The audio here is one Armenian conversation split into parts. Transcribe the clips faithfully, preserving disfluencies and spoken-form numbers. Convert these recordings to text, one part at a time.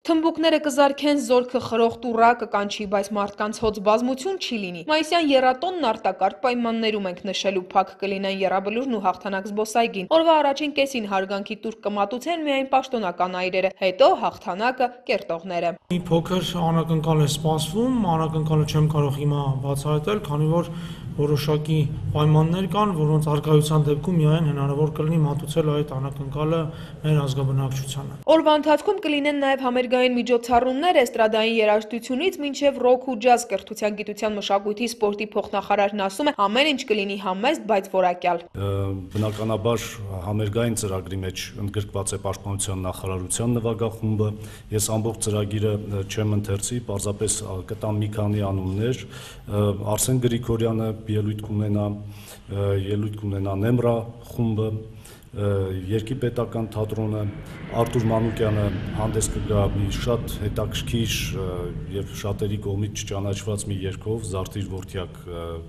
Թմբուկները կզարկեն զորքը խրոխտ ուռա կկանչի, բայց մարդկանց հոծ բազմություն չի լինի։ Մայիսյան եռատոնն արտակարգ պայմաններում ենք նշելու, փակ կլինեն եռաբլուրն ու հաղթանակ զբոսայգին։ Օրվա առաջին կեսին հարգանքի տուրք կմատուցեն միայն պաշտոնական այրերը, հետո հաղթանակը կերտողները։ Մի փոքր անակնկալ է սպասվում, անակնկալը չեմ կարող հիմա բացահայտել, քանի որ որոշակի պայմաններ կան, որոնց առկայության դեպքում միայն հնարավոր կլինի մատուցել այդ անակնկալը մեր ազգաբնակչությանը։ Օրվա ընթացքում կլինեն նաև համերգային միջոցառումներ էստրադային երաժշտությունից մինչև ռոք ու ջազ կրթության, գիտության, մշակույթի, սպորտի փոխնախարարն ասում է, ամեն ինչ կլինի համեստ, բայց որակյալ։ Բնականաբար համերգային ծրագրի մեջ ընդգրկված է Պաշտպանության նախարարության նվագախումբը։ Ես ամբողջ ծրագիրը չեմ ընթերցի, պարզապես կտամ մի քանի անուններ։ Արսեն Գրիգորյանը ելույթ կունենա, ելույթ կունենա Նեմրա խումբը, Երկիպետական թատրոնը, Արտուր Մանուկյանը հանդես կգա մի շատ հետաքրքիր եւ շատերի կողմից չճանաչված մի երգով Զարդիր որդյակ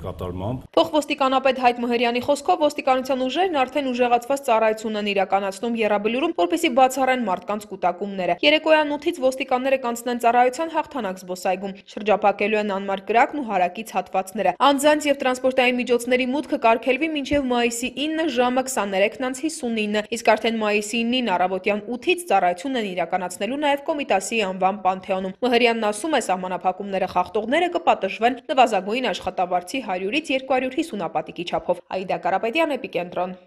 կատարմամբ։ Փոխոստիկանապետ Հայկ Մհրյանի խոսքով ոստիկանության ուժերն արդեն ուժեղացված ծառայություն են իրականացնում Եռաբլուրում, որպեսզի բացառեն մարդկանց կուտակումները։ Երեկոյան ութից ոստիկանները կանցնեն ծառայության հաղթանակ զբոսայգում, շրջափակելու են անմար կրակն ու հարակից հատվածները։ Անձանց եւ տրանսպորտային միջոցների մուտքը կարգելվի մինչեւ մայիսի ինը ժամը քսաներեքն հիսունինը, իսկ արդեն մայիսի ինին առավոտյան ութից ծառայություն են իրականացնելու նաև Կոմիտասի անվան Պանթեոնում։ Մհրյանն ասում է, սահմանափակումները խախտողները կպատժվեն նվազագույն աշխատավարձի հարյուրից երկու հարյուր հիսուն ապատիկի չափով։ Աիդա Կարապետյան, Էպիկենտրոն։